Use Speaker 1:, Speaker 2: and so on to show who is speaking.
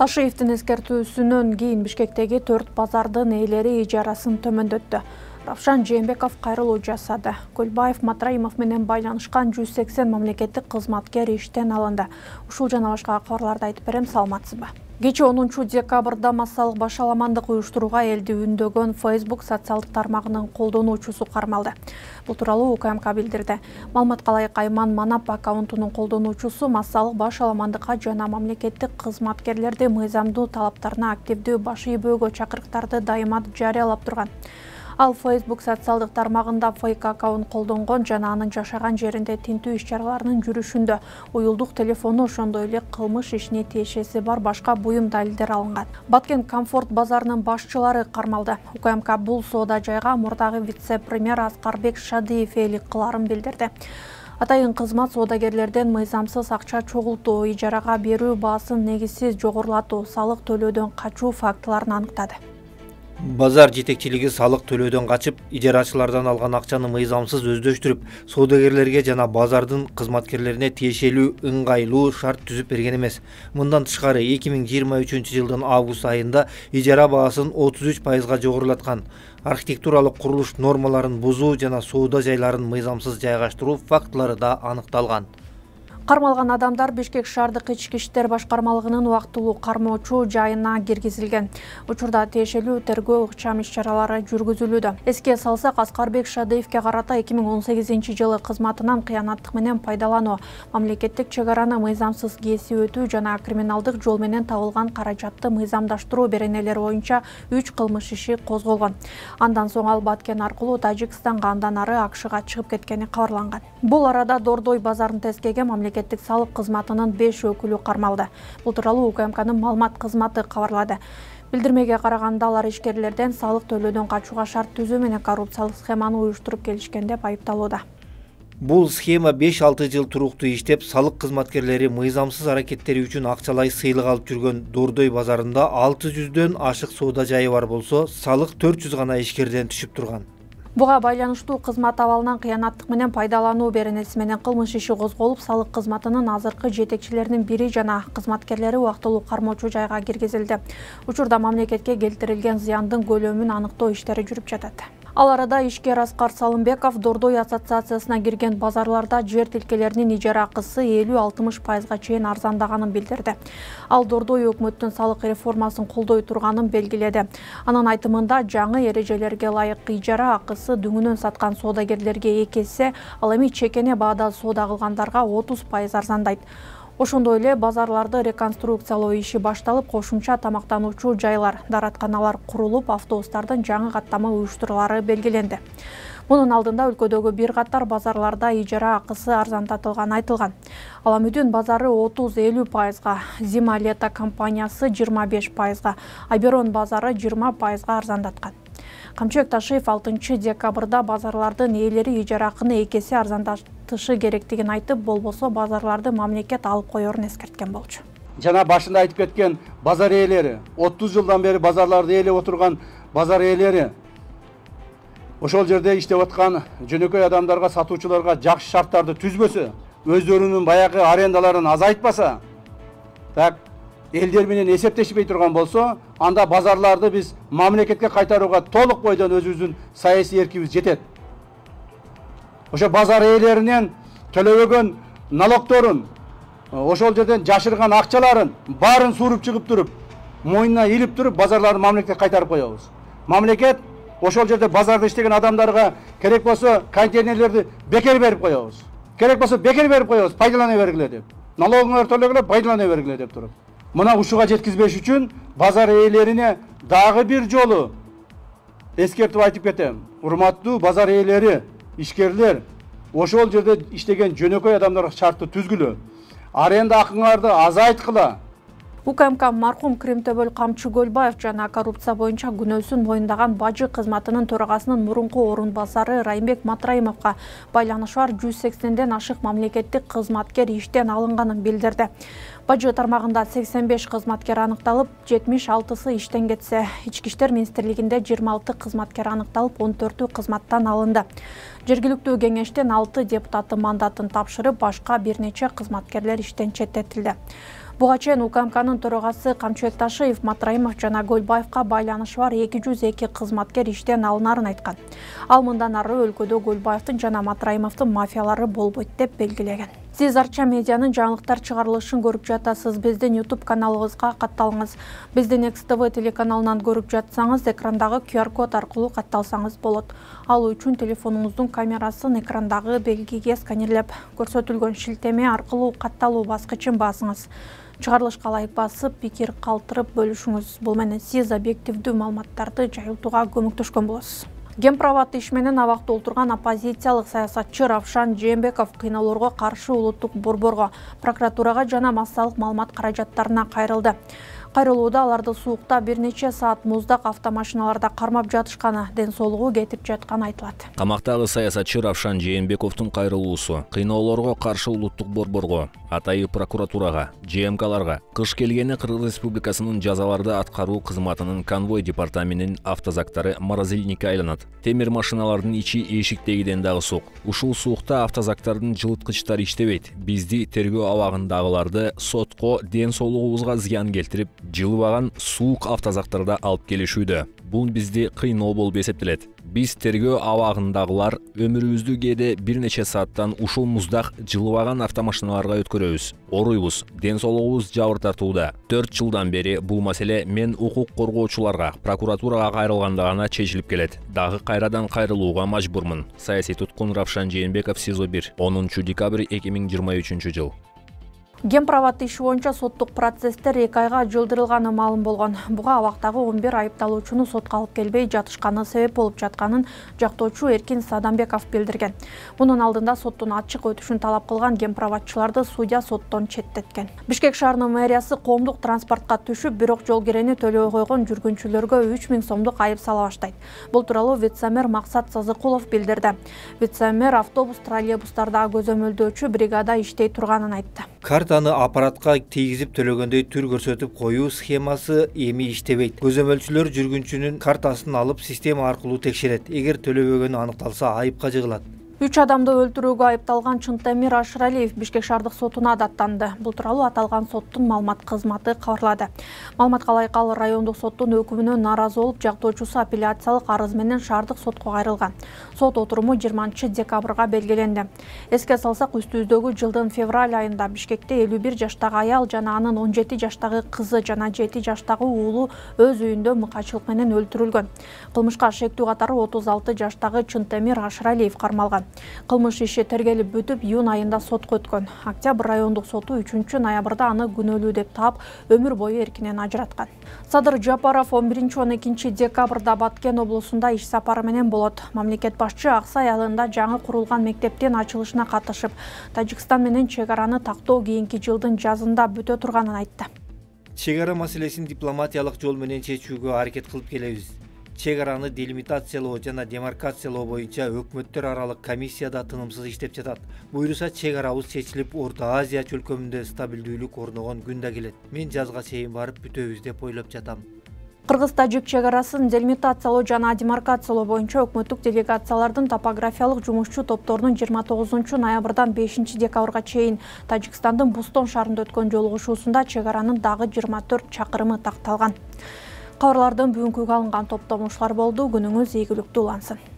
Speaker 1: Ташиевдин эскертүүсүнөн кийин Бишкектеги 4 базардын ээлери ижарасын төмөндөттү. Равшан Жээнбеков кайрылуу жасады. Көлбаев Матраимов менен байланышкан 180 мамлекеттик кызматкер иштен алынды. Ушул жана башка кабарларды айтып берем, саламатсызбы? Кечээ 10 декабрда массалык башаламандык уюштурууга элди үндөгөн Facebook социалдык тармагынын колдонуучусу кармалды. Бул тууралуу УКМК билдирди. Маалыматка ылайык, Айман Манап аккаунтунун колдонуучусу массалык башаламандыкка жана мамлекеттик кызматкерлерди мыйзамдуу талаптарына активдүү баш ийбөөгө чакырыктарды дайыма жарыялап турган. Ал Facebook социалдык тармагында фейк аккаунт колдонгон жана анын жашаган жеринде тинтүү иш-чараларынын жүрүшүндө уюлдук телефону, ошондой эле кылмыш ишине тиешеси бар башка буюм далилдер алынган. Баткен Комфорт базарынын башчылары кармалды. УКМК бул соода жайга мурдагы вице-премьер Аскарбек Шадиев ээлик кыларын билдирди. Атайын кызмат соодагерлерден мыйзамсыз акча чогултуу, ижарага берүү баасын негизсиз жогорулатуу, салык төлөөдөн качуу фактыларын аныктады.
Speaker 2: Базар жетекчилиги салык төлөөдөн качып, ижарачылардан алган акчаны мыйзамсыз өздөштүрүп, соодагерлерге жана базардын кызматкерлерине тиешелүү ыңгайлуу шарт түзүп берген эмес. Мындан тышкары 2023-жылдын август айында ижара баасын 33% жогорулаткан, архитектуралык курулуш нормаларын бузуу жана соода жайларын мыйзамсыз жайгаштыруу фактылары да аныкталган.
Speaker 1: Кармалган адамдар Бишкек шаардык ички иштер башкармалыгынын убактылуу кармоочу жайына киргизилген. Учурда тиешелүү тергөө ыкчам иш-чаралары жүргүзүлүүдө. Эске салсак, Аскарбек Шадиевке карата 2018-жылы кызматынан кыянаттык менен пайдалануу, мамлекеттик чек араны мыйзамсыз кесип өтүү жана криминалдык жол менен табылган каражатты мыйзамдаштыруу беренелери боюнча 3 кылмыш иши козголгон. Андан соң ал Баткен аркылуу Тажикстанга, андан ары АКШга чыгып кеткени кабарланган. Бул арада Дордой базарын тескеген мамлекеттик салык кызматынын 5 өкүлү кармалды. Бул тууралуу УКМКнын маалымат кызматы кабарлады. Билдирмеге караганда, алар ишкерлерден салык төлөөдөн качууга шарт түзүү менен коррупциялык схеманы уюштуруп келишкен деп айыпталууда.
Speaker 2: Бул схема 5-6 жыл туруктуу иштеп, салык кызматкерлери мыйзамсыз аракеттери үчүн акчалай сыйлык алып жүргөн. Дордой базарында 600дөн ашык соода жайы бар болсо, салык 400 гана ишкерден түшүп турган.
Speaker 1: Буга байланыштуу кызмат абалынан кыянаттык менен пайдалануу беренеси менен кылмыш иши козголуп, салык кызматынын азыркы жетекчилеринин бири жана кызматкерлери убактылуу кармоочу жайга киргизилди. Учурда мамлекетке келтирилген зыяндын көлөмүн аныктоо иштери жүрүп жатат. Ал арада ишкер Аскар Салымбеков Дордой ассоциациясына кирген базарларда жер тилкелеринин ижара акысы 50-60% чейин арзандаганын билдирди. Ал Дордой өкмөттүн салык реформасын колдой турганын белгиледи. Анын айтымында, жаңы эрежелерге ылайык ижара акысы дүңүнөн саткан соодагерлерге 2 эсе, ал эми чекене баада соода кылгандарга 30% арзандайт. Ошондой эле базарларды реконструкциялоо иши башталып, кошумча тамактануучу жайлар, дааратканалар курулуп, автобустардын жаңы каттама уюштурулары белгиленди. Мунун алдында өлкөдөгү бир катар базарларда ижара акысы арзандатылганы айтылган. Аламүдүн базары 30-50%, Зима-Лето компаниясы 25%, Айберон базары 20% арзандаткан. Камчыбек Ташиев 6 декабрда базарлардын ээлери ижара акыны 2 эсе арзандатышы керектигин айтып, болбосо базарларды мамлекет алып коерун эскерткен болчу.
Speaker 3: Жана башында айтып кеткен базар ээлери, 30 жылдан бери базарларды ээлеп отурган базар ээлери ошол жерде иштеп аткан жөнөкөй адамдарга, сатуучуларга жакшы шарттарды түзбөсө, өздөрүнүн баягы арендаларын азайтпаса, так элдер менен эсептешпей турган болсо, анда базарларды биз мамлекетке кайтарууга толук бойдон өзүбүздүн саясий эркибиз жетет. Ошо базар ээлеринен төлөбөгөн налогторун, ошол жерден жашырган акчаларын баарын сууруп чыгып туруп, мойнуна илип туруп, базарларды мамлекетке кайтарып коебуз. Мамлекет ошол жерде базарда иштеген адамдарга керек болсо контейнерлерди бекер берип коебуз. Керек болсо бекер берип коебуз, пайдалана бергиле деп. Налогуңарды төлөгүлө, пайдалана бергиле деп туруп. Мына ушуга жеткизбеш үчүн базар ээлерине дагы бир жолу эскертип айтып кетем. Урматтуу базар ээлери, ишкерлер, ошол жерде иштеген жөнөкөй адамдарга шартты түзгүлө. Аренда акыңарды азайткыла.
Speaker 1: УКМК маркум Кремтөбөл Камчы Көлбаев жана коррупция боюнча күнөөсүн моюндаган бажы кызматынын төрагасынын мурунку орун басары Райымбек Матраимовго байланышы бар 180ден ашык мамлекеттик кызматкер иштен алынганын билдирди. Бажы тармагында 85 кызматкер аныкталып, 76сы иштен кетсе, Ички иштер министрлигинде 26 кызматкер аныкталып, 14-ü кызматтан алынды. Жергиликтүү кеңештен 6 депутаты мандатын тапшырып, башка бир нече кызматкерлер иштен четтетилди. Буга чейин УКМКнын төрагасы Камчыбек Ташиев Матраимов жана Көлбаевка байланышы бар 202 кызматкер иштен алынарын айткан. Ал мындан ары өлкөдө Көлбаевдин жана Матраимовдун мафиялары болбойт деп белгилеген. Сиз Арча медианын жаңылыктар чыгарылышын көрүп жатасыз. Биздин YouTube каналыбызга катталыңыз. Биздин XTV телеканалынан көрүп жатсаңыз, экрандагы QR-код аркылуу катталсаңыз болот. Ал үчүн телефонуңуздун камерасын экрандагы белгиге сканерлеп, көрсөтүлгөн шилтеме аркылуу катталуу баскычын басыңыз. Чыгарылышка ылайык басып, пикир калтырып бөлүшүңүз. Бул менен сиз объективдүү маалыматтарды жайылтууга көмөктөшкөн болосуз. Гемпровод иш менен абакта отурган оппозициялык саясатчы Равшан Жээнбеков кыйноолорго каршы улуттук борборго, прокуратурага жана массалык маалымат каражаттарына кайрылды. Кайрылууда аларды суукта бир нече саат муздак автомашиналарда кармап жатышканы, ден соолугу кетип жатканы айтылат.
Speaker 4: Камактагы саясатчы Равшан Жээнбековдун кайрылуусу кыйноолорго каршы улуттук борборго, атайы прокуратурага, ЖМКларга, кыш келгени Кыргыз Республикасынын жазаларды аткаруу кызматынын конвой департаментинин автозактары морозильникке айланат. Темир машиналардын ичи эшиктегиден дагы суук. Ушул суукта автозактардын жылыткычтары иштебейт. Бизди тергөө абагындагыларды сотко ден соолугубузга зыян келтирип, жылыбаган суук автозактарда алып келишүүдө. Бул бизди кыйноо болуп эсептелет. Биз тергөө абагындагылар өмүрүбүздү кээде бир нече сааттан ушул муздак жылыбаган автомашиналарга өткөрөбүз. Оруйбуз, ден соолугубуз жабыр тартууда. 4 жылдан бери бул маселе мен укук коргоочуларга, прокуратурага кайрылганда гана чечилип келет. Дагы кайрадан кайрылууга мажбурмун. Саясий туткун Равшан Жээнбеков СИЗО 1, 10 декабрь 2023 жыл.
Speaker 1: Гемпровод иши боюнча соттук процесстер 2 айга жылдырылганы маалым болгон. Буга абактагы 11 айыпталуучуну сотко алып келбей жатышканы себеп болуп жатканын жактоочу Эркин Садамбеков билдирген. Мунун алдында соттун ачык өтүшүн талап кылган гемпроводчуларды судья соттон четтеткен. Бишкек шаарынын мэриясы коомдук транспортко түшүп, бирок жол кирени төлөбөй койгон жүргүнчүлөргө 3000 сомдук айып сала баштайт. Бул тууралуу вице-мэр Максат Сазыкулов билдирди. Вице-мэр автобус, троллейбустардагы көзөмөлдөөчү бригада иштей турганын айтты.
Speaker 2: Картаны аппаратка тийгизип төлөгөндөй түр көрсөтүп коюу схемасы эми иштебейт. Көзөмөлчүлөр жүргүнчүнүн картасын алып система аркылуу текшерет. Эгер төлөбөгөнү аныкталса, айыпка жыгылат.
Speaker 1: 3 адамды өлтүрүүгө айыпталган Чынтемир Ашыралиев Бишкек шаардык сотуна даттанды. Бул тууралуу аталган соттун маалымат кызматы кабарлады. Маалыматка ылайык ал райондук соттун өкүмүнө нааразы болуп, жактоочусу апелляциялык арыз менен шаардык сотко кайрылган. Сот отуруму 20 декабрга белгиленди. Эске салсак, үстүбүздөгү жылдын февраль айында Бишкекте 51 жаштагы аял жана анын 17 жаштагы кызы жана 7 жаштагы уулу өз үйүндө мыкайчылык менен өлтүрүлгөн. Кылмышка шектүү катары 36 жаштагы Чынтемир Ашыралиев кармалган. Кылмыш иши тергелип бүтүп, июнь айында сотко өткөн. Октябрь райондук соту 3 ноябрда аны күнөөлүү деп таап, өмүр бою эркинен ажыраткан. Садыр Жапаров 11-12 декабрда Баткен облусунда иш сапары менен болот. Мамлекет башчы Аксай айылында жаңы курулган мектептин ачылышына катышып, Тажикстан менен чек араны тактоо кийинки жылдын жазында бүтө турганын айтты.
Speaker 2: Чек ара маселесин дипломатиялык жол менен чечүүгө аракет кылып келебиз. Чек араны делимитациялоо жана демаркациялоо боюнча өкмөттөр аралык комиссияда тынымсыз иштеп жатат. Буюрса чек арабыз чечилип, Орто Азия чөлкөмүндө стабилдүүлүк орногон күн да келет. Мен жазга чейин барып бүтөбүз деп ойлоп жатам.
Speaker 1: Кыргыз-тажик чек арасын делимитациялоо жана демаркациялоо боюнча өкмөттүк делегациялардын топографиялык жумушчу топторунун 29 ноябрдан 5 декабрга чейин Тажикстандын Бустон шаарында өткөн жолугушуусунда чек аранын дагы 24 чакырымы такталган. Кабарлардын бүгүнкүгө алынган топтомушулар болду. Күнүңүз ийгиликтүү улансын.